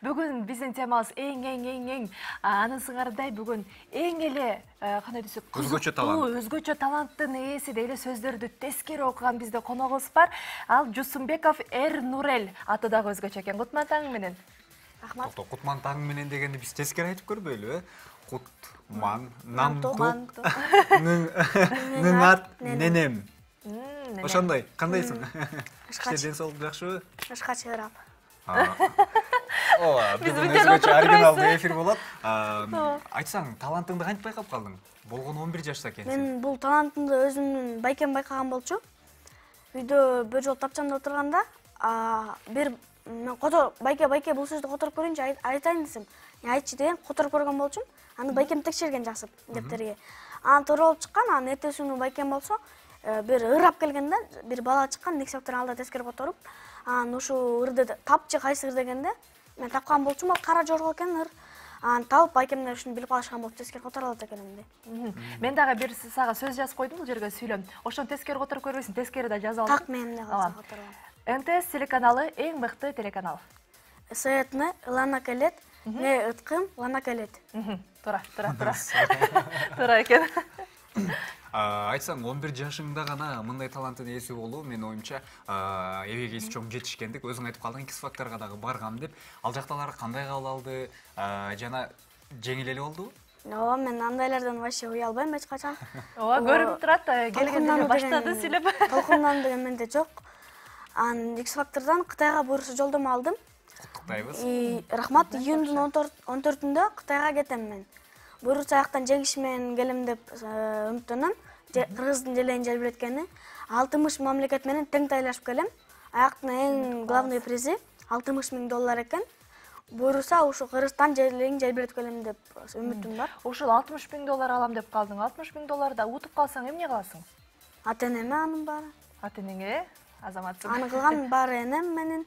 Бүгүн биздин темабыз эң анын сыңарындай бүгүн эң эле кандай десек, өзгөчө таланттын ээси дейле сөздөрдү тескери окуган бизде коногубуз бар. Ал Жусумбеков Эрнурел аты дагы өзгөчө экен. Кутман таң менен. Рахмат. Кутман таң менен дегенди биз тескери айтып көрбөйлүбү? Кутман, намтук, ныңат, ненем. Ошондой, кандайсың? Ден соолук жакшыбы? Ышка чыгарам. Бүгүн өзгөчө оригиналдуу эфир болот. Айтсаң, талантыңды кантип байкап калдың? Болгону 11 жашта экенсиң. Мен бул талантымды өзүмдүн байкем байкаган болчу. Үйдө бир жолу тапчанда отурганда, мен байке бул сөздү которуп көрүнчү, айтайын десем. Айтчы деген которуп көргөн болчумун. Аны байкем текшерген жакшы дептерге. Анан туура болуп чыккан, анан эртеси күнү байкем болсо, бир ырап келгенде, бир бала чыккан, экзаментердин алдында тескери которуп, анан ушул ырды тапчы кайсы ыр дегенде, мен тапкан болчумун, ал кара жорго экен ыр. Анан табып байкемдер ушуну билип калышкан болуп тескери которо алат экенмин деп. Мен дагы бир сага сөз жазып койдум бул жерге сүйлөм. Ошону тескери которуп көрбөйсүң, тескери да жазып алдым. Так, мен да которуп. НТС телеканалы эң мыкты телеканал. Сетне лана келет, не ыткым лана келет. Туура. Туура экен. Айтсаң, 11 жашыңда гана мындай таланттын ээси болуу, мен оюмча, эбегейси чоң жетишкендик. Өзүң айтып калдың, X-Factorга дагы баргам деп. Ал жакталар кандай кабыл алды? Жана жеңил эле болдубу? Ооба, мен андайлардан вообще уялбайм эч качан. Ооба, көрүнүп турат, келгенде баштады сүйлөп. Толкундан деген менде жок. Анан X-Factorдан Кытайга буйруксуз жолдомо алдым. Куттуктайбыз. Рахмат, июндун 14-үндө Кытайга кетем мен. Буйрукча аяктан жеңиш менен келем деп үмүттөнөм. Кыргыздын желейин желбиреткени 60 мамлекет менен тең тайлашып келем. Аяктын эң главный призи $60,000 экен. Буйрукса ушу Кыргызстан желейин желбиретип келем деп үмүтүм бар. Ушул $60,000 алам деп калдың. $60,000 да утуп калсаң эмне кыласың? Ата-энеме анын баары. Ата-энеңе, азаматсың. Аны кылган баары энем менен.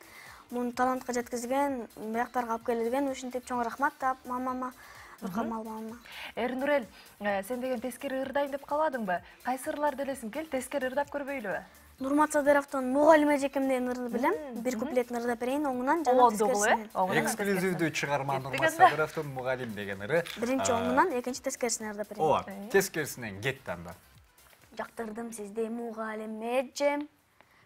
Муну талантка жеткизген, бияктарга алып келген ушинтип чоң рахмат деп мамама, Нуркамал мамама. Эрнурел, сен деген тескери ырдайм деп калбадыңбы? Кайсы ырларды элесиң? Кел, тескери ырдап көрбөйлүбү? Нурмат Садыровдун Мугалим эжекем деген ырды билем. Бир куплетин ырдап берейин, оңунан жана тескерисинен. Эксклюзивдүү чыгарма Нурмат Садыровдун Мугалим деген ыры. Биринчи оңунан, экинчи тескерисинен ырдап берейин. Ооба, тескерисинен кетти анда. Жактырдым сизди Мугалим эжем,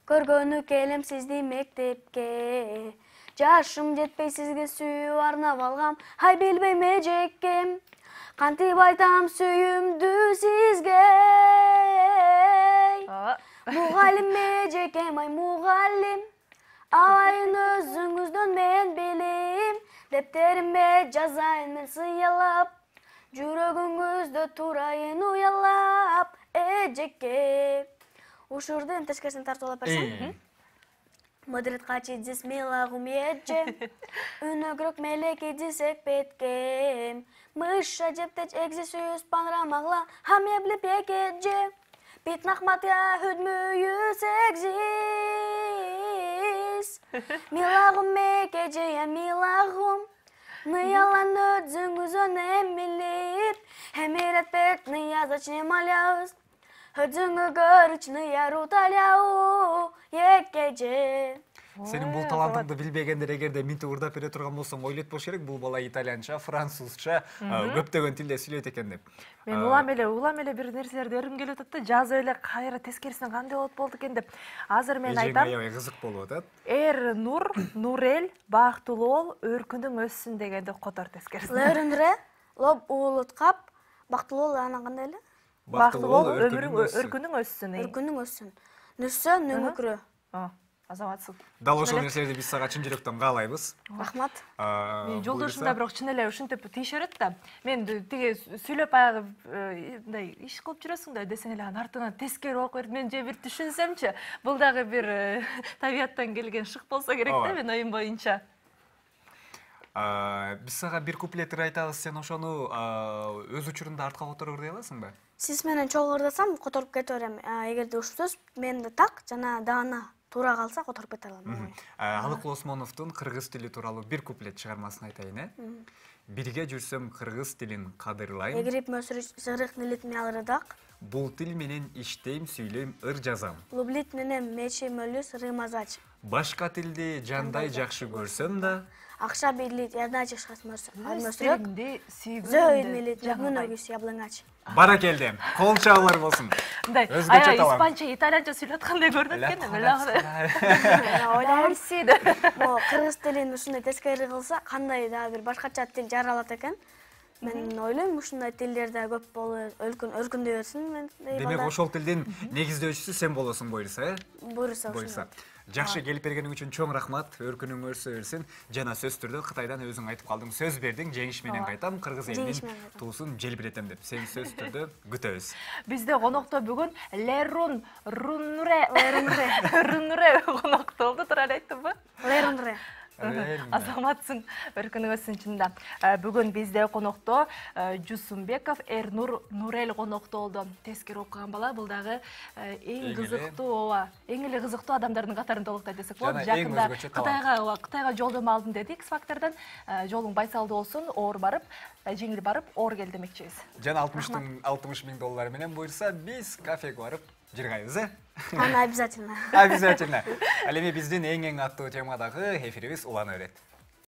көргөнү келем сизди мектепке. Жашым жетпей сизге сүйүү арнап алгам, ай билбейм эжекем. Кантип айтам сүйүүмдү сизге. Мугалим эжекем, ай мугалим, алайын өзүңүздөн мен билим. Дептеримде жазайын мен сыялап, жүрөгүңүздө турайын уялап, эжеке. Ушурду тескерисинен тартып алып берсең. Мыдрет качидзис милагум эже, үнөгрөк мелеки дисек беткем. Мыша жептеч экзисюс панрамагла, хамебли пекеже. Питнахматя хүдмүйү сегзис. Милагум мекеже я милагум, ныялан өдзүңүзөн эмилип. Эмирет пет ная зачем маляус, өдзүңү көрүч ная руталяу, екеже. Сенин бул талантыңды билбегендер эгерде минтип ырдап бере турган болсоң ойлойт болуш керек, бул бала итальянча, французча, көптөгөн тилде сүйлөйт экен деп. Мен улам эле бир нерселерди өргүм келип атат да, жазып эле кайра тескерисинен кандай болот экен деп. Азыр мен айтам. Аябай кызык болуп атат. Нурел, бактылуу бол, өркүнүң өссүн дегенди котор тескерисинен. Өрүндүрө, лоб уулуткап, бактылуу бол анан кандай эле? Бактылуу бол, өркүнүң өссүн. Өркүнүң өссүн. Нүссө, нүңүкрө. Азаматсың. Дал ошол нерселерди биз сага чын жүрөктөн каалайбыз. Рахмат. Жолдошум да бирок чын эле ушинтип тийише берет да. Мен тиги сүйлөп баягы мындай иш кылып жүрөсүң да десең эле анын артынан тескери окуп берип, мен же бир түшүнсөмчү, бул дагы бир табияттан келген шык болсо керек да, мен оюм боюнча. Биз сага бир куплет айтабыз, сен ошону өз учурунда артка которуп ырдай аласыңбы? Сиз менен чогуу ырдасам которуп кете берем. Эгерде ушул сөз менде так жана даана туура калса которуп кете алам. Алыкул Осмоновдун кыргыз тили тууралуу бир куплет чыгармасын айтайын, Бирге жүрсөм кыргыз тилин кадырлайм. Эгрип мөсүрүч жырык нилит мялырдак. Бул тил менен иштейм, сүйлөйм, ыр жазам. Лублит менен мечи мөлүс рымазач. Башка тилди жандай жакшы көрсөм да, Акша бийлейт, ярдына чыгышат Өз тилинди Зөө илмелейт, мөнөгүс яблыңач. Баракелде. Кол чабуулар болсун. Мындай, Өзгөчө талант. испанча, итальянча сүйлөткандай көрүнөт экен. Ойлойм, Мерси. могу кыргыз тилин ушундай тескери кылса, кандай дагы бир башкача тил жаралат экен. Мен ойлойм, ушундай тилдер да көп болуп, өркүндөй берсин. Мен Демек ошол тилдин негиздөөчүсү сен болосуң буюрса, буюрса. Жакшы келип бергениң үчүн чоң рахмат. Өркүнүң өрсө берсин. Жана сөз түрдө Кытайдан өзүң айтып калдың, сөз бердиң, жеңиш менен кайтам, кыргыз элинин туусун желбиретем деп. Сени сөз түрдө күтөбүз. Бизде конокто бүгүн Лерун Рунре конокто болду. Туура эле айттымбы? Лерунре. Азаматсың, өркүнүң өссүн чында. Бүгүн бизде конокто Жусумбеков Эрнур Нурел конокто болду. Тескери окуган бала, бул дагы эң кызыктуу, эң эле кызыктуу адамдардын катарында болот десек болот. Жакында Кытайга жолдомо алдым дедик, X-Factor'дан. Жолуң байсалдуу болсун, оор барып, жеңил барып, оор кел демекчибиз. Жана 60 миң доллар менен буюрса, биз кафеге барып жыргайбыз, Аны обязательно. Обязательно. Ал эми биздин эң аттуу темадагы эфирибиз улана берет.